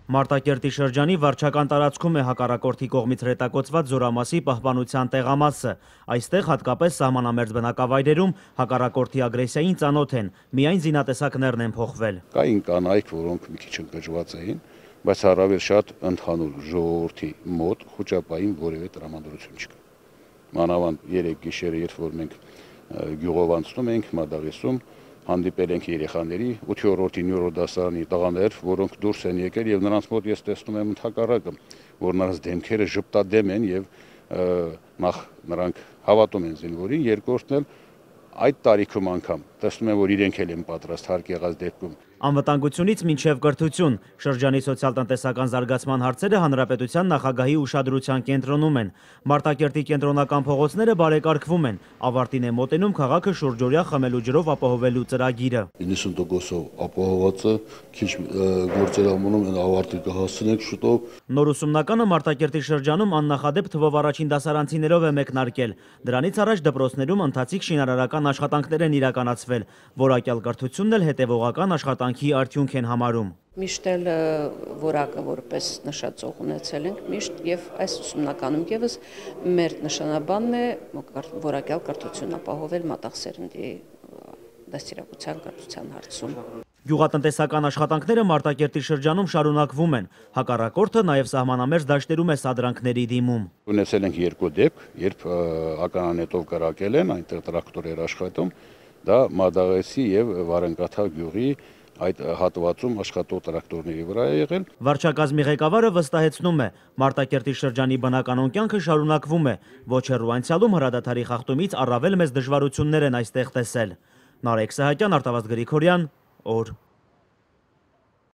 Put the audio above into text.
Մարտակերտի շրջանի վարչական տարածքում է հակառակորդի կողմից հրետակոծված Զորամասի պահպանության տեղամասը։ Այստեղ հատկապես սահմանամերձ բնակավայրերում հակառակորդի ագրեսիային ծանոթ են, միայն զինատեսակներն են փոխվել։ Կային կանայք, որոնք մի քիչ ընկճված էին, բայց առավել շատ ընդհանուր ժողովրդի մոտ խոճապային որևէ տրամադրություն չկա։ Մանավանդ 3 գիշերը, երբ որ մենք գյուղով անցնում ենք Մադաղեսում, հանդիպել ենք երեխաների 8-րդ, 9-րդ դասարանի տղաներ, որոնք դուրս են եկել եւ նրանց մոտ ես տեսնում եմ ընդհակառակը, որ նրանց դեմքերը ժպտադեմ են եւ նախ նրանք հավատում են զինվորին, երկրորդն էլ այդ տարիքում անգամ տեսնում եմ, որ իրենք էլ են պատրաստ հարկ եղած դեպքում։ Անվտանգությունից մինչև կրթություն շրջանի սոցիալ-տնտեսական զարգացման հարցերը հանրապետության նախագահի ուշադրության կենտրոնում են։ Մարտակերտի կենտրոնական փողոցները բարեկարգվում են, ավարտին է մոտենում քաղաքը շուրջօրյա խմելու ջրով ապահովելու ծրագիրը։ 90%-ով ապահովված է, քիչ գործեր ամոնում են ավարտի կհասցնենք շուտով։ Նոր ուսումնականը Մարտակերտի շրջանում աննախադեպ թվով առաջին դասարանցիներով է մեկնարկել։ Դրանից առաջ դպրոցներում ընթացիկ շինարարական աշխատանքներ են իրականացվել, որակյալ կրթությունն էլ հետևողական աշխատանքի արդյունք են համարում։ Միշտ էլ որակը որպես նշածող ունեցել ենք միշտ եւ այս ուսումնականում եւս մեր նշանաբանն է որակյալ կրթություն ապահովել մատաղսերնդի դաստիարակության կրթության հարցում։ Գյուղատնտեսական աշխատանքները Մարտակերտի շրջանում շարունակվում են։ Հակառակորդը նաև սահմանամերձ դաշտերում է սադրանքների դիմում։ Ունեցել ենք 2 դեպք, երբ ականանետով կրակել են, այնտեղ տրակտորեր աշխատում, դա Մադաղեսի եւ Վարենկաթա գյուղի այդ հատվածում աշխատող տրակտորների վրա է եղել։ Վարչակազմի ղեկավարը վստահեցնում է, Մարտակերտի շրջանի բնականոն կյանքը շարունակվում է։ Ոչ հեռու անցյալում հրադադարի խախտումից առավել մեծ դժվարություններ են այստեղ տեսել։ Նարեկ Սահակյան, Արտավազդ Գրիգորյան, օր։